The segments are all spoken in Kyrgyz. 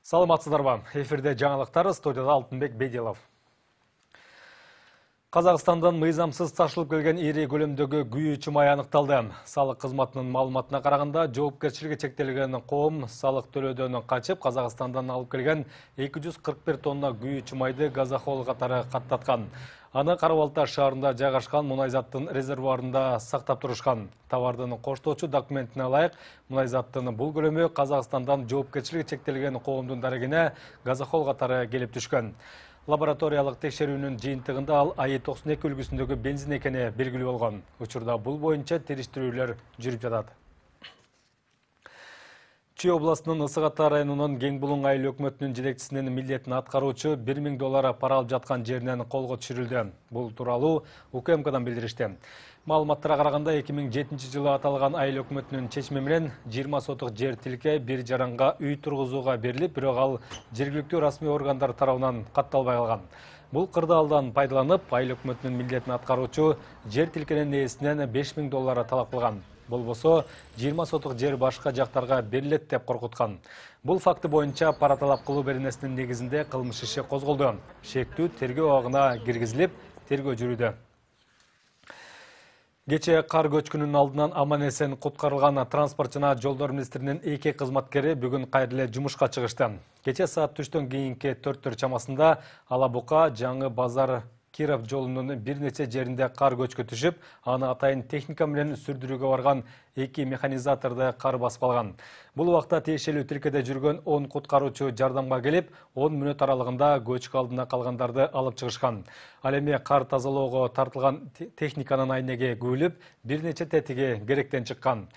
Саламатсыздарбы? Эфирде жаңалыктар, студияда Алтынбек Бедилов. Казакстандан мыйзамсыз ташылып келген ири көлөмдөгү күйүү чымай аныкталды. Салык кызматынын маалыматына караганда, жоопкерчилиги чектелген коом салык төлөөдөн качып, Казакстандан алып келген 241 тонна күйүү чымайды газохол катары каттаткан. Аны Кара-Балта шаарында жайгашкан мунайзаттын резервуарында сактап турушкан. Товардын коштоочу документине ылайык, мунайзаттын бул көлөмү Казакстандан жоопкерчилиги чектелген коомдун дарегине газохол катары келип түшкөн. Лабораториялык текшерүүнүн жыйынтыгында ал АИ-92 үлгүсүндөгү бензин экени белгилүү болгон. Учурда бул боюнча териштирүүлөр жүрүп жатат. Чүй областынын Ысык Ата районунун Кеңбулуң айыл өкмөтүнүн жетекчисинин милдетин аткаруучу 1000 доллар пара алып жаткан жеринен колго түшүрүлдү. Бул тууралуу УКМКдан билдиришти. Маалыматтарга караганда 2007-жылы аталган айыл өкмөтүнүн чечими менен 20 сотук жер тилке бир жаранга үй тургузууга берилип, бирок ал жергиликтүү расмий органдар тарабынан катталбай калган. Бул кырдаалдан пайдаланып, айыл өкмөтүнүн милдетин аткаруучу жер тилкенин ээсинен 5000 доллар талап кылган. Болбосо 20 сотук жер башка жактарга берилет деп коркуткан. Бул факты боюнча пара талап кылуу беренесинин негизинде кылмыш иши козголду. Шектүү тергөө абагына киргизилип, тергөө жүрүүдө. Кече кар көчкүнүнүн алдынан аман-эсен куткарылган транспорт жана жолдор министринин 2 кызматкери бүгүн кайра эле жумушка чыгышты. Кече саат түштөн кийинки 4 чамасында Ала Бука Жаңы Базар Киров жолунун бир нече жеринде кар көчкү түшүп, аны атайын техника менен сүрдүрүүгө барган 2 механизаторду кар басып алган. Бул убакта тиешелүү тилкеде жүргөн 10 куткаруучу жардамга келип, 10 мүнөт аралыгында көчкү алдына калгандарды алып чыгышкан. Ал эми кар тазалоого тартылган техниканын айнеги күбүлүп, бир нече тетиги керектен чыккан.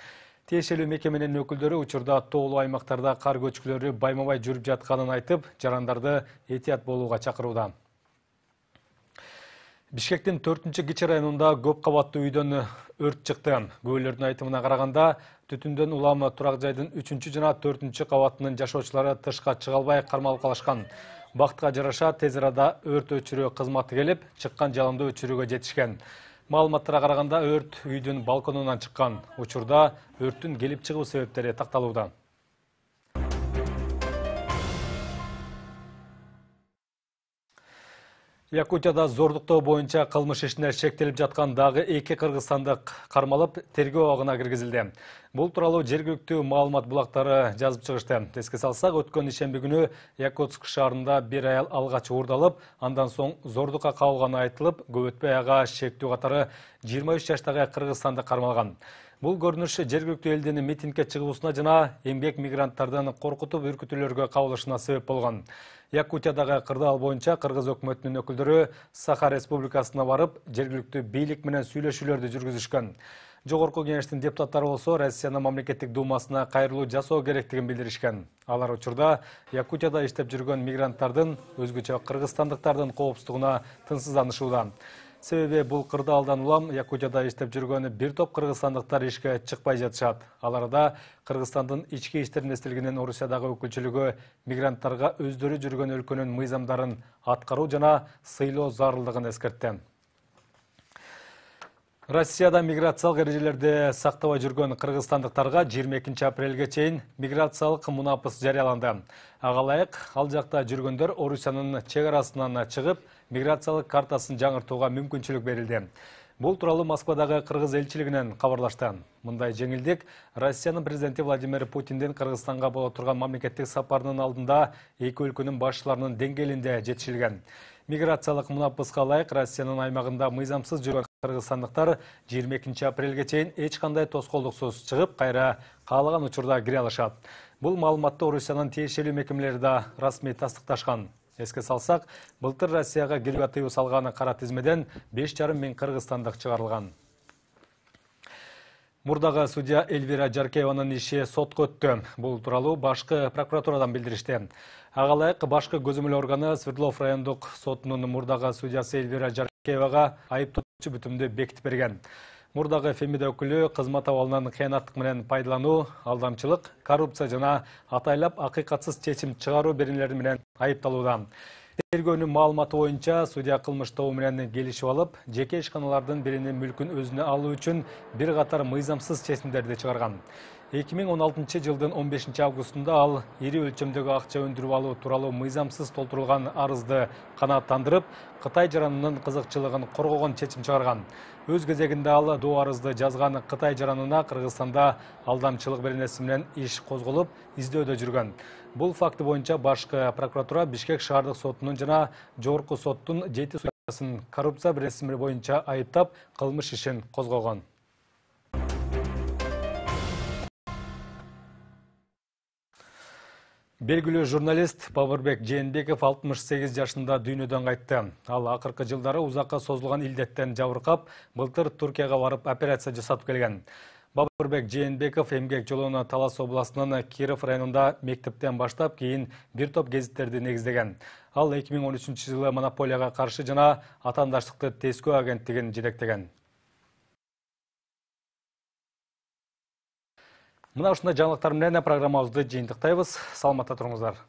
Тиешелүү мекеменин өкүлдөрү учурда тоолуу аймактарда кар көчкүлөрү байма-бай жүрүп жатканын айтып, жарандарды этият болууга чакырууда. Бишкектин 4-Кичи районунда көп кабаттуу үйдөн өрт чыкты. Күбөлөрдүн айтымына караганда, түтүндөн улам турак жайдын 3 жана 4 кабатынын жашоочулары тышка чыга албай кармалып калышкан. Бактка жараша тез арада өрт өчүрүү кызматы келип, чыккан жалынды өчүрүүгө жетишкен. Маалыматтарга караганда өрт үйдүн балконунан чыккан. Учурда өрттүн келип чыгуу себептери такталууда. Якутияда зордуктоо боюнча кылмыш ишине шектелип жаткан дагы 2 кыргызстандык кармалып, тергөө абагына киргизилди. Бул тууралуу жергиликтүү маалымат булактары жазып чыгышты. Эске салсак, өткөн ишемби күнү Якутск шаарында бир аял алгач уурдалып, андан соң зордукка кабылганы айтылып, көп өтпөй ага шектүү катары 23 жаштагы кыргызстандык кармалган. Бул көрүнүш жергиликтүү элдин митингге чыгуусуна жана эмгек мигранттардын коркутуп үркүтүүлөргө кабылышына себеп болгон. Якутиядагы кырдаал боюнча кыргыз өкмөтүнүн өкүлдөрү Саха Республикасына барып, жергиликтүү бийлик менен сүйлөшүүлөрдү жүргүзүшкөн. Жогорку кеңештин депутаттары болсо Россиянын мамлекеттик думасына кайрылуу жасоо керектигин билдиришкен. Алар учурда Якутияда иштеп жүргөн мигранттардын, өзгөчө кыргызстандыктардын коопсуздугуна тынчсызданышууда. Себеби бул кырдаалдан улам Якутияда иштеп жүргөн бир топ кыргызстандыктар ишке чыкпай жатышат. Аларда Кыргызстандын ички иштер министрлигинин Орусиядагы өкүлчүлүгү мигранттарга өздөрү жүргөн өлкөнүн мыйзамдарын аткаруу жана сыйлоо зарылдыгын эскертти. Россияда миграциялык эрежелерди сактабай жүргөн кыргызстандыктарга 22 апрелге чейин миграциялык мунапыс жарыяланды. Ага ылайык, ал жакта жүргөндөр Орусиянын чек арасынан чыгып, миграциялык картасын жаңыртууга мүмкүнчүлүк берилди. Бул тууралуу Москвадагы кыргыз элчилигинен кабарлашты. Мындай жеңилдик Россиянын президенти Владимир Путиндин Кыргызстанга боло турган мамлекеттик сапарынын алдында эки өлкөнүн башчыларынын деңгээлинде жетишилген. Миграциялык мунапыска ылайык Россиянын аймагында мыйзамсыз жүргөн кыргызстандыктар 22 апрелге чейин эч кандай тоскоолдуксуз чыгып, кайра каалаган учурда кире алышат. Бул маалыматты Орусиянын тиешелүү мекемелери да расмий тастыкташкан. Эске салсак, былтыр Россияга кирүүгө тыюу салган кара тизмеден 5,5 миң кыргызстандык чыгарылган. Мурдагы судья Эльвира Жаркееванын иши сотко өттү. Бул тууралуу башкы прокуратурадан билдиришти. Ага ылайык башкы көзөмөл органы Свердлов райондук сотунун мурдагы судьясы Эльвира Жаркеевага айыптоочу бүтүмдү бекитип берген. Мурдагы Фемида өкүлү кызмат абалынан кыянаттык менен пайдалануу, алдамчылык, коррупция жана атайлап акыйкатсыз чечим чыгаруу беренелери менен айыпталууда. Тергөөнүн маалыматы боюнча судья кылмыш тобу менен келишип алып, жеке ишканалардын биринин мүлкүн өзүнө алуу үчүн бир катар мыйзамсыз чечимдерди чыгарган. 2016 жылдын 15 августунда ал ири өлчөмдөгү акча өндүрүп алуу тууралуу мыйзамсыз толтурулган арызды канааттандырып, Кытай жаранынын кызыкчылыгын коргогон чечим чыгарган. Өз кезегинде ал доо арызды жазган Кытай жаранына Кыргызстанда алдамчылык беренеси менен иш козголуп, издөөдө жүргөн. Бул факты боюнча башкы прокуратура Бишкек шаардык сотунун жана жогорку соттун 7 судьясын коррупция беренеси боюнча айыптап, кылмыш ишин козгогон. Белгилүү журналист Бабырбек Жээнбеков 68 жашында дүйнөдөн кайтты. Ал акыркы жылдары узакка созулган илдеттен жабыркап, былтыр Туркияга барып операция жасатып келген. Бабырбек Жээнбеков эмгек жолуна Талас областынын Киров районунда мектептен баштап, кийин бир топ гезиттерди негиздеген. Ал 2013 жылы монополияга каршы жана атаандаштыкты тескөө агенттигин жетектеген. Мына ушундай жаңылыктар менен программабызды жыйынтыктайбыз. Саламатта туруңуздар.